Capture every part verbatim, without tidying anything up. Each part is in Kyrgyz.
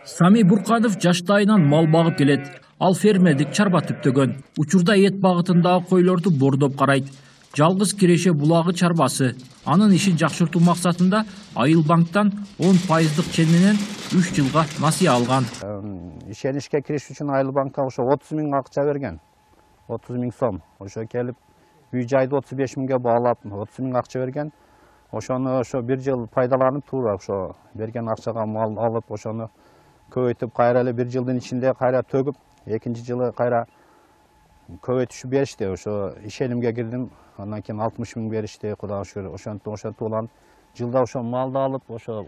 Сами Бурканов жаштайынан мал багып келет. Ал фермердик чарба түптөгөн. Учурда эт багытындагы койлорду бордоп карайт. Жалгыз Киреше булагы чарбасы. Анын ишин жакшыртуу максатында Айыл банктан он пайыздык чен менен үч жылга насыя алган. Ишенишке кириш үчүн Айыл банкка ошо отуз миң акча берген. отуз миң сом. Ошо келип үй жайды отуз беш миңге баалап, отуз миң акча берген. Ошону ошо бир жыл пайдаланып туура ошо берген акчага мал алып, ошону көбөйтүп кайра эле бир жылдын ичинде кайра төгүп, экинчи жылы кайра көбөйтүшүп беришти. Ошо ишенимге кирдим. Андан кийин алтымыш миң беришти. Кудайга шүгүр. Ошентип ошентип уланып, жылда ошо малды алып, ошо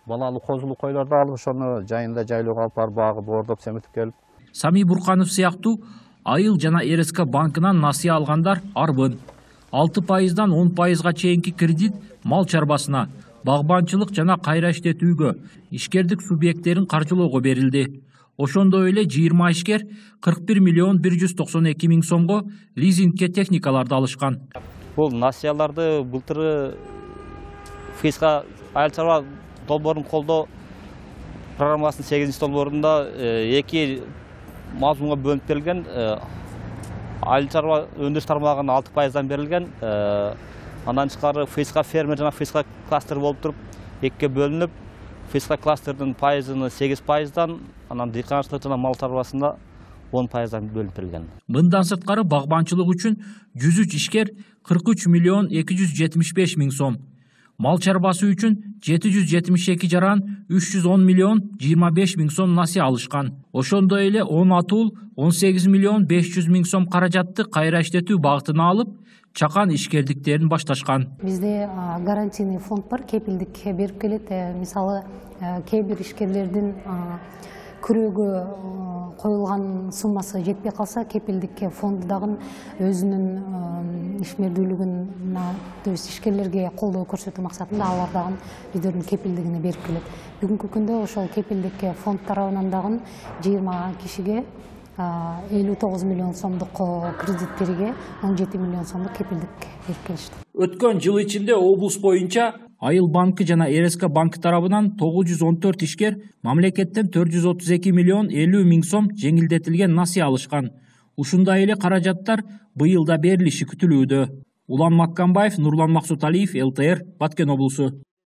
балалуу козулуу койлорду алып, ошону жайында жайлоого алып барып багып, бордоп семетип келип. Сами Бурканов сыяктуу Айыл жана эр эс ка банкынан насыя алгандар арбын. алты пайыздан он пайызга чейинки кредит мал чарбасына, багбанчылык жана кайра иштетүүгө, ишкердик субъекттерин каржылоого берилди. Ошондой эле жыйырма ишкер кырк бир миллион бир жүз токсон эки миң сомго лизингке техникаларды алышкан. Бул насыяларды былтыры ФСК айыл чарба долбоорун колдоо программасынын сегизинчи долбоорунда эки мазмунга бөлүнүп берилген. Айыл чарба өндүрүш тармагына алты пайыздан берилген. Андан тышкары ФСК фермер жана ФСК кластер болуп туруп экиге бөлүнүп, ФСК кластердин пайызын сегиз пайыздан, анан дыйканчылык жана мал чарбасында он пайыздан бөлүнүп берилген. Мындан сырткары багбанчылык үчүн жүз үч ишкер кырк үч миллион эки жүз жетимиш беш миң сом, мал чарбасы үчүн жети жүз жетимиш эки жаран үч жүз он миллион жыйырма беш миң сом насыя алышкан. Ошондой эле он атул он сегиз миллион беш жүз миң сом каражатты кайра иштетүү багытына алып, чакан ишкердиктерин башташкан. Бизде гарантийный фонд бар, кепилдик берип келет. Мисалы, кээ бир ишкерлердин күрөөгө коюлган суммасы жетпей калса, кепилдик фонду дагы өзүнүн ишмердүүлүгүн, то есть ишкерлерге колдоо көрсөтүү максатында алар дагы өздөрүнүн кепилдигине берип келет. Бүгүнкү күндө ошол кепилдик фонд тарабынан дагы жыйырма кишиге элүү тогуз миллион сомдук кредит бериге он жети миллион сомдук кепилдик берип келишти. Өткөн жыл ичинде облус боюнча Айыл банкы жана эр эс ка банкы тарабынан тогуз жүз он төрт ишкер мамлекеттен төрт жүз отуз эки миллион элүү миң сом жеңилдетилген насыя алышкан. Ушундай эле каражаттар быйыл да берилиши күтүлүүдө. Улан Маккамбаев, Нурлан Максуталиев, эл тэ эр, Баткен облусу.